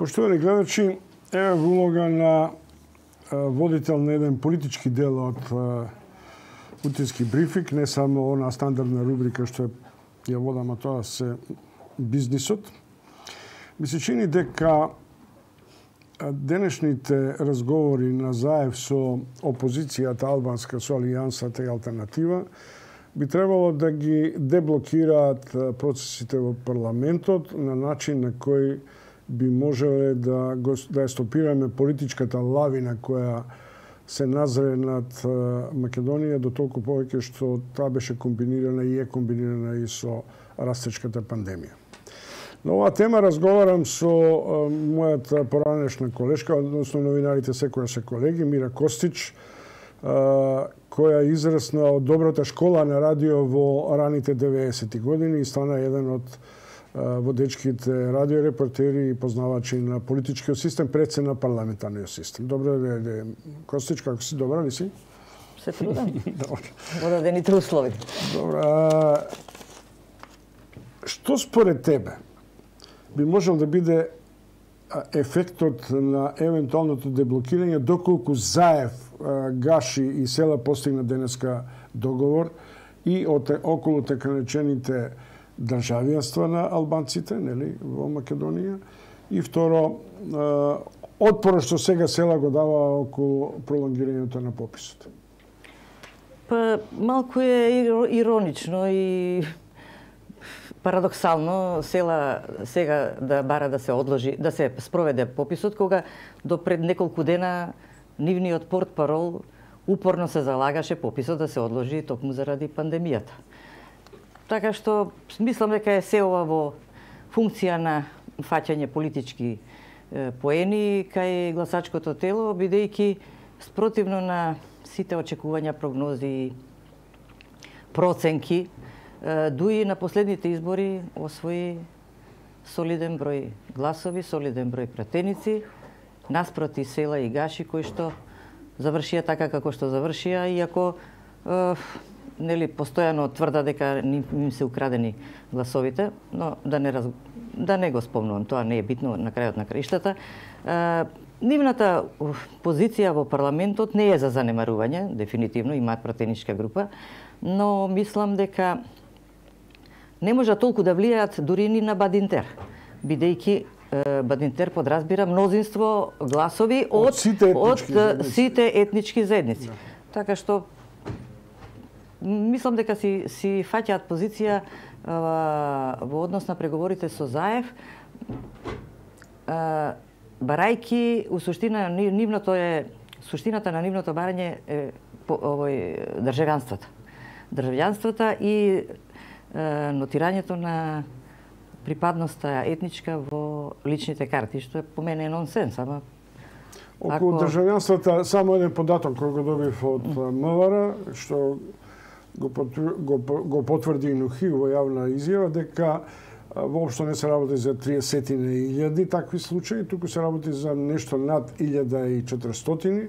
Поштовани гледачи, еве улога на водител на еден политички дел од Утински брифинг, не само она стандардна рубрика што ја водам, а тоа се бизнисот. Ми се чини дека денешните разговори на заев со опозицијата албанска, со Алијансата и Алтернатива, би требало да ги деблокираат процесите во парламентот на начин на кој би можеле да ја стопираме политичката лавина која се назре над Македонија, до толку повеќе што таа беше комбинирана и е комбинирана и со растечката пандемија. На оваа тема разговарам со мојата поранешна колешка, односно новинарите секоја се колеги, Мира Костич, која израсна од добрата школа на радио во раните 90-ти години и стана еден од водечките радиорепортери и познавачи на политичкиот систем, пред се на парламентарниот систем. Добро ден, Костич, како си? Добра ли си? Се трудам. Добро дените услови. Добра. Што според тебе би можел да биде ефектот на евентуалното деблокирање, доколку заев Гаши и Села постигна денеска договор и околу така наречените државјанства на албанците, нели, во Македонија, и второ, отпорот што сега Села го дава околу пролонгирањето на пописот? Па, малку е иронично и парадоксално Села сега да бара да се одложи, да се спроведе пописот, кога до пред неколку дена нивниот портпарол упорно се залагаше пописот да се одложи токму заради пандемијата. Така што мислам дека е се ова во функција на фаќање политички поени кај гласачкото тело, бидејќи спротивно на сите очекувања, прогнози и проценки, дуи на последните избори освои солиден број гласови, солиден број пратеници, наспроти Села и Гаши, кои што завршија така како што завршија, иако нели постојано тврда дека им се украдени гласовите, но да не го спомнувам, тоа не е битно на крајот на краиштата. Нивната позиција во парламентот не е за занемарување, дефинитивно имаат пратеничка група, но мислам дека не може толку да влијаат дури ни на Бадинтер, бидејќи Бадинтер подразбира мнозинство гласови од сите етнички заедници. Така што мислам дека си фаќаат позиција во однос на преговорите со заев, барајки у суштина суштината на нивното барање е државјанствата. Државјанствата и нотирањето на припадноста етничка во личните карти, што е по мене нонсенс, ама околу државјанствата само еден податок кој го добив од МВР, што го потврди и Нухи во јавна изјава, дека воопшто не се работи за 30.000 такви случаи, туку се работи за нешто над 1.400.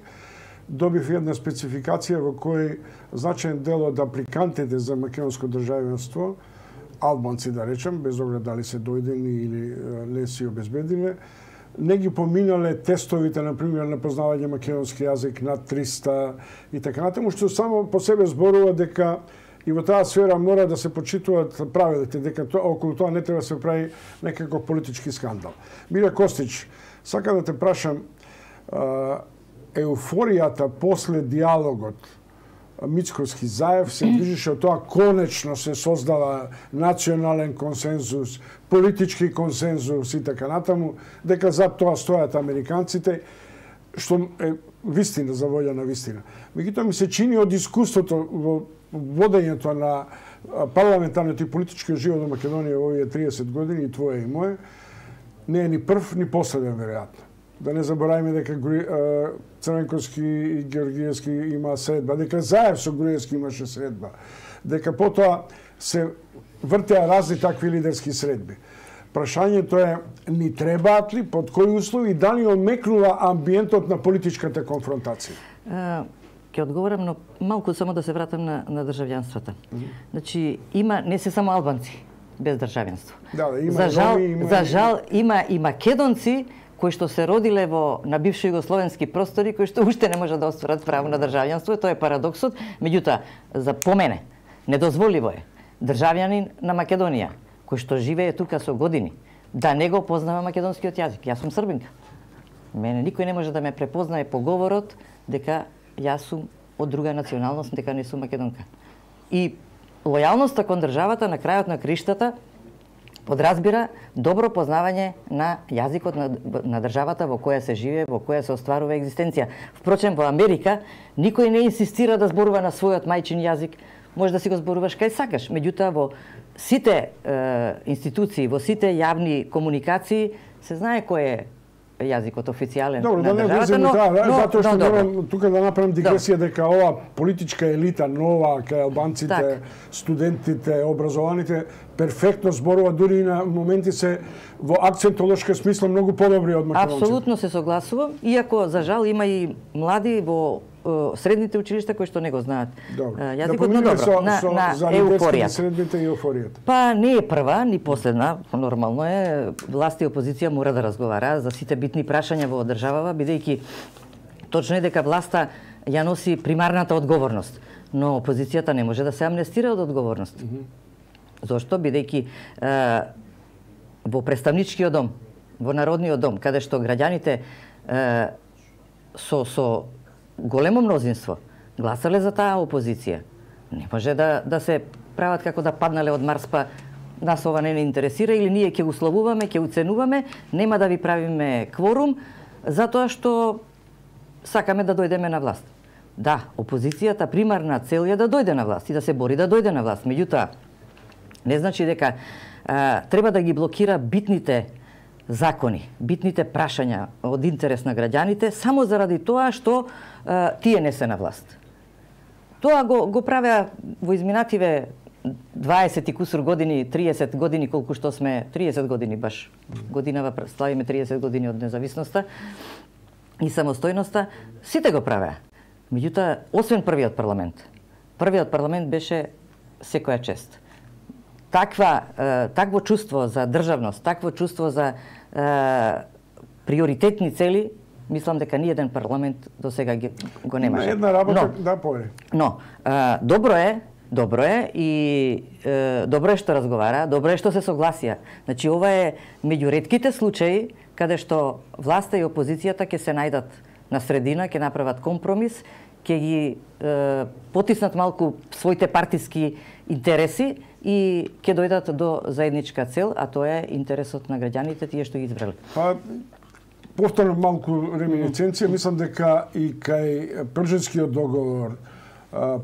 Добив една спецификација во кој значаен дел од апликантите за македонско државјанство, албанци да речем, без оглед дали се дојдени или не си обезбедиле, не ги поминале тестовите, например, на познавање македонски јазик над 300 и така натаму, што само по себе зборува дека и во таа сфера мора да се почитуваат правилите, дека околу тоа не треба да се прави некаков политички скандал. Мира Костич, сакам да те прашам, еуфоријата после диалогот Мицковски заев се движеше од тоа конечно се создава национален консензус, политички консензус и така натаму, дека за тоа стојат американците, што е вистина за волја на вистина. Меѓутоа ми се чини од искуството во водењето на парламентарниот и политичкиот живот во Македонија во овие 30 години, и твое и мое, не е ни прв ни последен веројатно. Да не забораваме дека Црвенковски и Георгиевски има средба, дека заев со Груевски имаше средба, дека потоа се вртеа разни такви лидерски средби. Прашањето е, ни требаат ли, под кои услови, дали омекнува амбиентот на политичката конфронтација? Ќе одговорам, но малку само да се вратам на државјанствата. Значи, има не се само албанци. без државенство. Да, има за жал има и македонци кои што се родиле на бивши југословенски простори, кои што уште не може да остварат право на државјанство, тоа е парадоксот. Меѓутоа, за по мене недозволиво е државјанин на Македонија, кој што живее тука со години, да не го познава македонскиот јазик. Јас сум србинка. Мене никој не може да ме препознае по говорот дека јас сум од друга националност, дека не сум македонка. И лојалноста кон државата на крајот на криштата подразбира добро познавање на јазикот на државата во која се живее, во која се остварува екзистенција. Впрочем, во Америка никој не инсистира да зборува на својот мајчин јазик. Може да си го зборуваш кај сакаш. Меѓутоа, во сите институции, во сите јавни комуникации се знае кој е јазикот официјален на државата, затоа што морам тука да направам дигресија дека ова политичка елита нова кај албанците, студентите, образованите перфектно зборува, дури и на моменти се во акцентолошка смисла многу подобри од македонците. Апсолутно се согласувам, иако за жал има и млади во средните училишта кои што не го знаат јазикот, но добро, на еуфоријата. Средните и еуфоријата. Па не е прва, ни последна, нормално е, власт и опозиција мора да разговара за сите битни прашања во државава, бидејќи точно е дека власта ја носи примарната одговорност, но опозицијата не може да се амнестира од одговорност. Зошто? Бидејќи во представничкиот дом, во Народниот дом, каде што граѓаните со големо мнозинство гласале за таа опозиција, не може да се прават како да паднале од Марс, па нас ова не интересира, или ние ќе условуваме, ќе уценуваме, нема да ви правиме кворум, затоа што сакаме да дојдеме на власт. Да, опозицијата примарна цел е да дојде на власт и да се бори да дојде на власт. Меѓутоа, не значи дека треба да ги блокира битните закони, битните прашања од интерес на граѓаните, само заради тоа што тие не се на власт. Тоа го правеа во изминативе 20 и кусур години, 30 години, колку што сме, 30 години баш, годинава славиме 30 години од независноста и самостојноста, сите го правеа. Меѓутоа, освен првиот парламент беше секоја чест. Такво чувство за државност, такво чувство за приоритетни цели, мислам дека ни еден парламент до сега го немаше. На една работа, да, повеќе. Но, добро е и добро е што разговара, добро е што се согласија. Значи, ова е меѓу ретките случаи каде што власта и опозицијата ќе се најдат на средина, ќе направат компромис, ќе ги потиснат малку своите партиски интереси и ќе дојдат до заедничка цел, а тоа е интересот на граѓаните, тие што ги избрале. Па, повторно малку реминисценција, мислам дека и кај Пржевскиот договор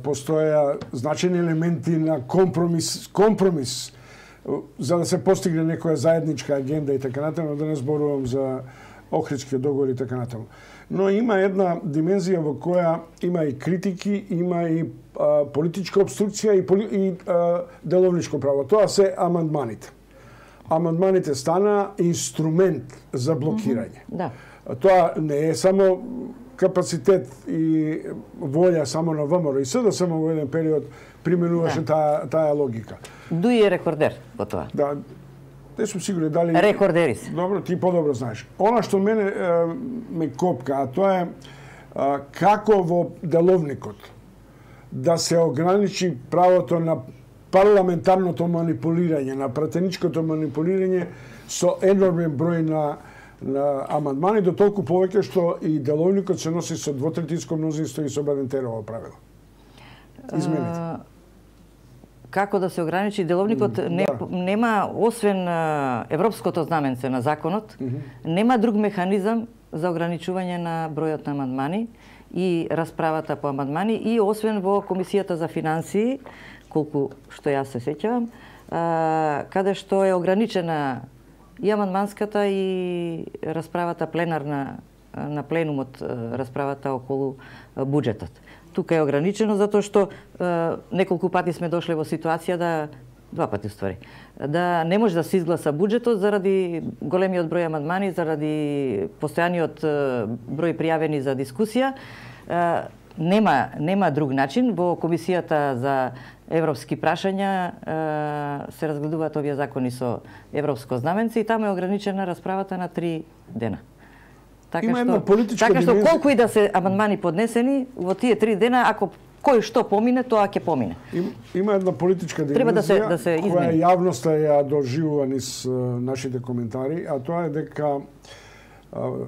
постоја значени елементи на компромис за да се постигне некоја заедничка агенда и така натаму, да не зборувам за Охридскиот договор и така натаму. Но има една димензија во која има и критики, има и политичка обструкција и деловничко право. Тоа се амандманите. Амандманите стана инструмент за блокирање. Да. Тоа не е само капацитет и волја само на ВМРО и СДСМ, само во еден период применуваше таа логика. Дуи е рекордер во тоа. Да. Не сум сигурен дали... Рекордери се. Добро, ти подобро знаеш. Она што мене ме копка, а тоа е како во деловникот да се ограничи правото на парламентарното манипулирање, на пратеничкото манипулирање со енормен број на амандмани, до толку повеќе што и деловникот се носи со двотретинско мнозинство и со Бадентерово правило. Измените. Како да се ограничи деловникот, нема, освен европското знаменце на законот, нема друг механизам за ограничување на бројот на амандмани и расправата по амандмани, и освен во Комисијата за финансии, колку што јас се сеќавам, каде што е ограничена и амандманската и расправата пленарна на пленумот, расправата околу буџетот. Тука е ограничено затоа што неколку пати сме дошле во ситуација два пати уствари, да не може да се изгласа буџетот заради големиот број амандмани, заради постојаниот број пријавени за дискусија. нема друг начин. Во Комисијата за европски прашања се разгледуваат овие закони со европско знаменце и таму е ограничена расправата на 3 дена. Така што колку и да се амандмани поднесени, во тие 3 дена, ако кој што помине, тоа ќе помине. Има една политичка димензија која јавноста ја доживува низ нашите коментари, а тоа е дека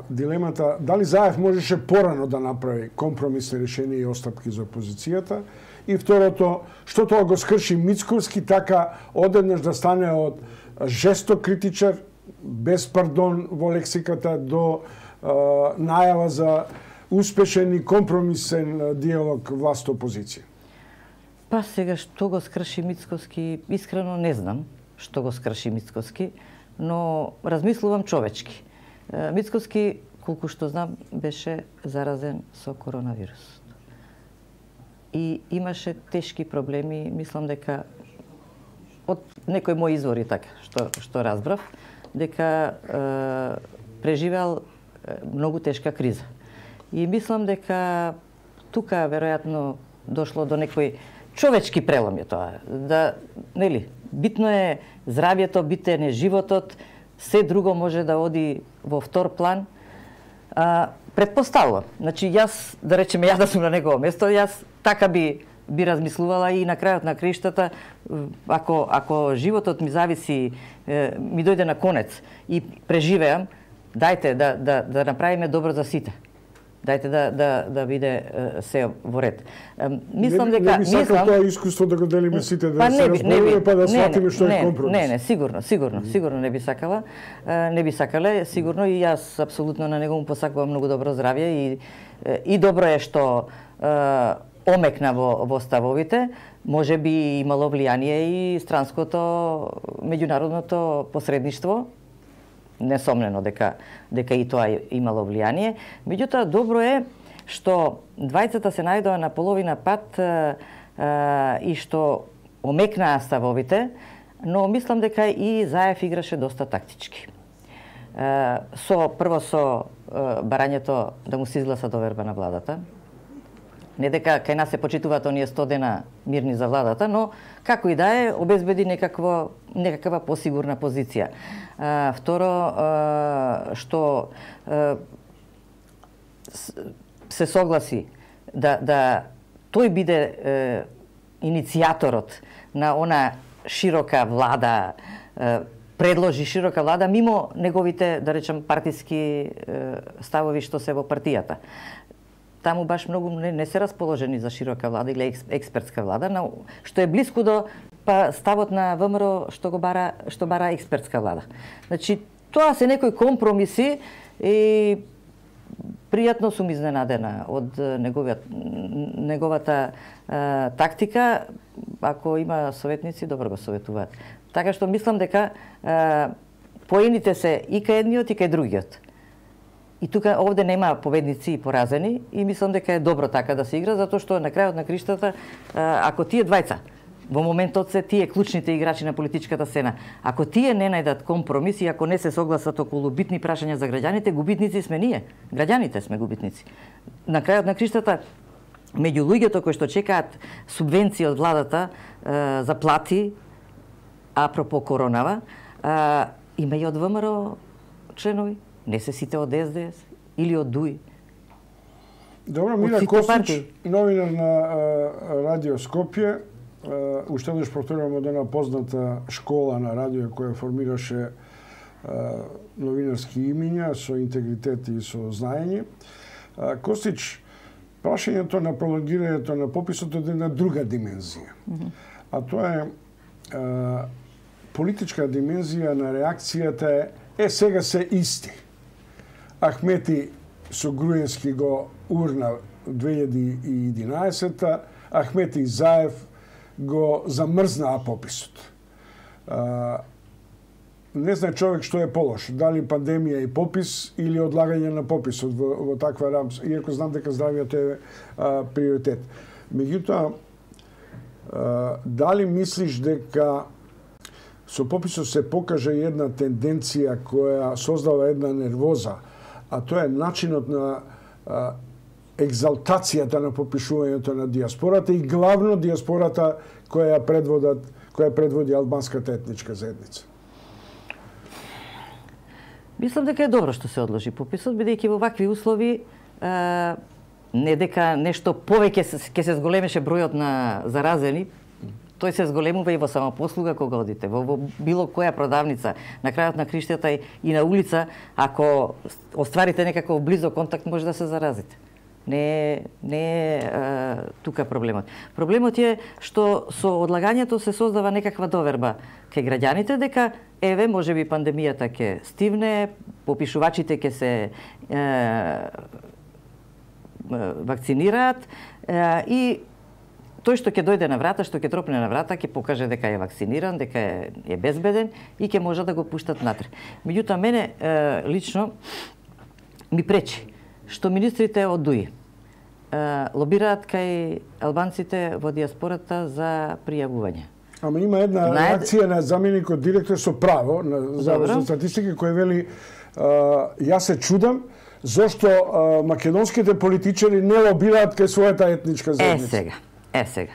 дилемата дали Заев можеше порано да направи компромисни решенија и остапки за опозицијата, и второто, што тоа го скрши Мицковски, така одеднаш да стане од жесток критичар, без пардон во лексиката, до најава за успешен и компромисен диалог власт-опозиција? Па сега што го скрши Мицковски, искрено не знам што го скрши Мицковски, но размислувам човечки. Мицковски, колку што знам, беше заразен со коронавирус. И имаше тешки проблеми, мислам дека од некој мој извори така, што разбрав, дека преживеал многу тешка криза. И мислам дека тука веројатно дошло до некој човечки прелом е тоа. Да, нели, битно е здравјето, битен е животот, се друго може да оди во втор план. Предпоставувам. Значи, јас, да речеме, јас да сум на негово место, јас така би размислувала и на крајот на криштата, ако животот ми зависи, ми дојде на конец и преживеам, дајте да направиме добро за сите. Дајте да биде се во ред. Мислам дека не би сакал тоа искуство да го делиме сите, да се разбереме па да сватиме што е компромис. Не, сигурно не би сакала. Не би сакале, сигурно и јас апсолутно на него му посакувам многу добро здравје и добро е што омекна во ставовите. Може би имало влијание и странското меѓународното посредништво. Несомнено дека и тоа имало влијание. Меѓутоа, добро е што двајцата се најдоа на половина пат и што омекнаа ставовите, но мислам дека и Заев играше доста тактички. Прво со барањето да му се изгласа доверба на владата. Не дека кај нас се почитуваат оние 100 дена мирни за владата, но како и да е, обезбеди некаква посигурна позиција. Второ, што се согласи да тој биде иницијаторот на она широка влада, предложи широка влада мимо неговите, да речем, партиски ставови што се во партијата. Таму баш многу не се расположени за широка влада или експертска влада, што е блиску до ставот на ВМРО што бара експертска влада. Значи, тоа се некои компромиси и пријатно сум изненадена од неговата тактика. Ако има советници, добро го советуваат. Така што мислам дека поените се и кај едниот и кај другиот. И тука овде нема победници и поразени и мислам дека е добро така да се игра, затоа што на крајот на криштата, ако тие двајца, во моментот се тие клучните играчи на политичката сцена, ако тие не најдат компромис и ако не се согласат околу битни прашања за граѓаните, губитници сме ние. Граѓаните сме губитници. На крајот на криштата, меѓу луѓето кои што чекаат субвенции од владата за плати, апропо коронава, има и од ВМРО членови. Не се сите од СДС или од ДУИ. Добро, Мира Костич, новинар на Радио Скопје, уште еднаш повторувам од една позната школа на радио која формираше новинарски имиња со интегритет и со знаење. Костич, прашањето на прологирањето на пописот е една друга димензија. А тоа е политичка димензија на реакцијата е сега се исти. Ахмети со Груевски го урна 2011-та, Ахмети и Заев го замрзнаа пописот. Не знае човек што е полош, дали пандемија и попис или одлагање на пописот во таква рамка, иако знам дека здравјето е приоритет. Меѓутоа, дали мислиш дека со пописот се покажа една тенденција која создава една нервоза, а тоа е начинот на екзалтацијата на попишувањето на диаспората и главно диаспората која предводи албанската етничка заедница? Мислам дека е добро што се одложи пописот, бидејќи во вакви услови не дека нешто повеќе ќе се зголемеше бројот на заразени, тој се зголемува и во самопослуга кога одите, во било која продавница, на крајот на криштата и на улица, ако остварите некаков близок контакт, може да се заразите. Не е тука проблемот. Проблемот е што со одлагањето се создава некаква доверба кај граѓаните дека еве можеби пандемијата ќе стивне, попишувачите ќе се вакцинираат и тој што ќе дојде на врата, што ќе тропне на врата, ќе покаже дека е вакциниран, дека е безбеден и ќе може да го пуштат натре. Меѓутоа, мене лично ми пречи што министрите од ДУИ лобираат кај албанците во диаспората за пријавување. Ама има една реакција на заменикот директор со право на Завод за статистика кој вели јас се чудам зошто македонските политичари не лобираат кај својата етничка заедница. Сега.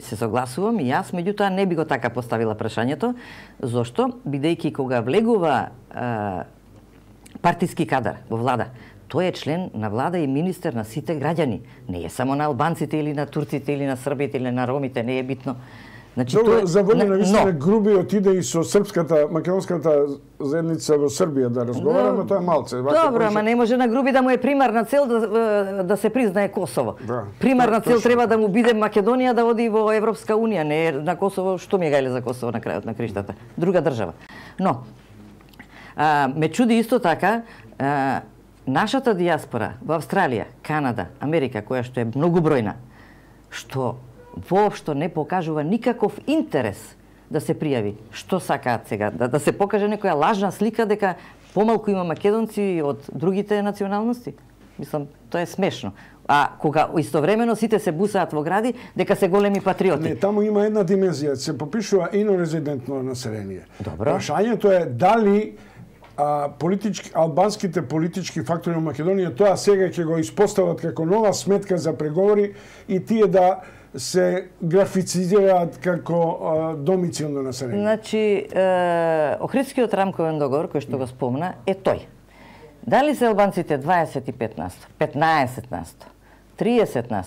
Се согласувам и јас, меѓутоа не би го така поставила прашањето, зошто бидејќи кога влегува партиски кадар во влада, тој е член на влада и министер на сите граѓани. Не е само на албанците или на турците или на србите или на ромите, не е битно. Значи, за воља на вистина Груби отиде и со српската, македонската заедница во Србија да разговараме, тоа е малце. Добро, ама не може на Груби да му е примарна цел да се признае Косово. Примарна цел треба да му биде Македонија да оди во Европска Унија, не на Косово, што ми гајле за Косово на крајот на криштата. Друга држава. Но, ме чуди исто така, нашата диаспора во Австралија, Канада, Америка, која што е многу бројна, што воопшто не покажува никаков интерес да се пријави. Што сакаат сега? Да се покаже некоја лажна слика дека помалку има македонци од другите националности? Мислам, тоа е смешно. А кога истовремено сите се бусаат во гради дека се големи патриоти. Не, таму има една димензија, се попишува инорезидентно население. Добро. Прашањето е дали албанските политички фактори во Македонија тоа сега ќе го испостават како нова сметка за преговори и тие да се графицизираат како домицилно население. Значи, Охридскиот рамковен договор, кој што го спомна, е тој. Дали се албанците 25%, 15%, 30%,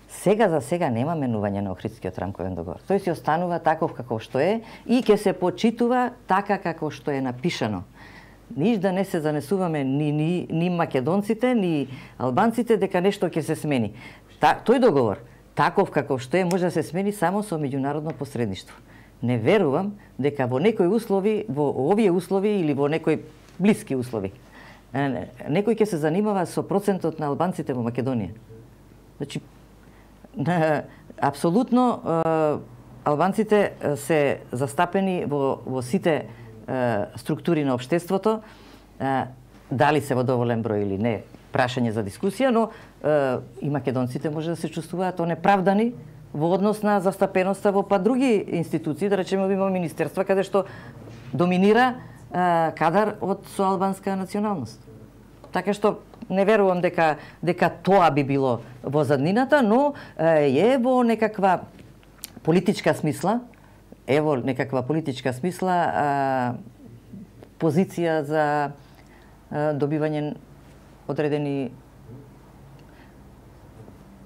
сега за сега нема менување на Охридскиот рамковен договор. Тој си останува таков како што е и ќе се почитува така како што е напишано. Ниш да не се занесуваме ни македонците, ни албанците дека нешто ќе се смени. Тој договор, таков како што е, може да се смени само со меѓународно посредништво. Не верувам дека во некои услови, во овие услови или во некои блиски услови, некој ќе се занимава со процентот на албанците во Македонија. Значи, апсолутно албанците се застапени во сите структури на општеството, дали се во доволен број или не, прашање за дискусија, но и македонците може да се чувствуваат онеправдани во однос на застапеноста во други институции, да речеме има министерства каде што доминира кадар со албанска националност. Така што не верувам дека тоа би било во заднината, но е во некаква политичка смисла, позиција за добивање одредени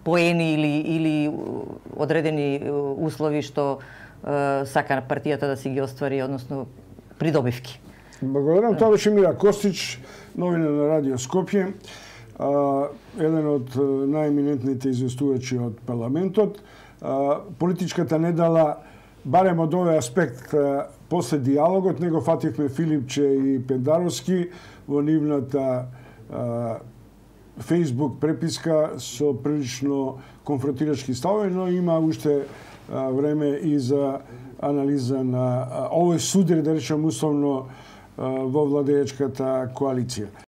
поени или одредени услови што сака партијата да си ги оствари, односно придобивки. Благодарам. Тоа беше Мира Костич, новина на Радио Скопје, еден од најеминентните известувачи од парламентот. Политичката недела, барем од овој аспект, после диалогот, него фативме Филипче и Пендаровски во нивната Facebook преписка со прилично конфронтирачки ставови, но има уште време и за анализа на овој судар, да речем условно, во владеечката коалиција.